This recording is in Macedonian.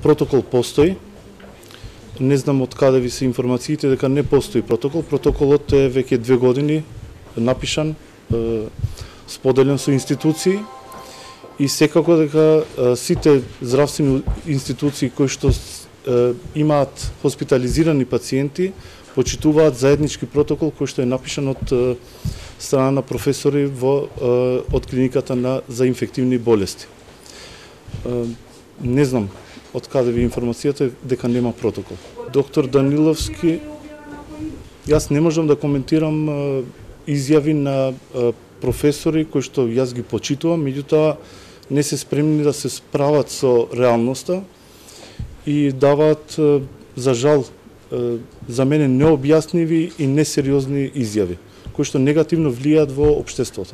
Протокол постои. Не знам од каде ви се информациите дека не постои протокол. Протоколот е веќе 2 години напишан, споделен со институции и секако дека сите здравствени институции кои што имаат хоспитализирани пациенти почитуваат заеднички протокол кој што е напишан од страна на професори од клиниката за инфективни болести. Не знам од каде ви информацијата дека нема протокол. Доктор Даниловски, јас не можам да коментирам изјави на професори кои што јас ги почитувам, меѓутоа не се спремни да се справат со реалноста и даваат, за жал, за мене необјасниви и несериозни изјави, кои што негативно влијаат во општеството.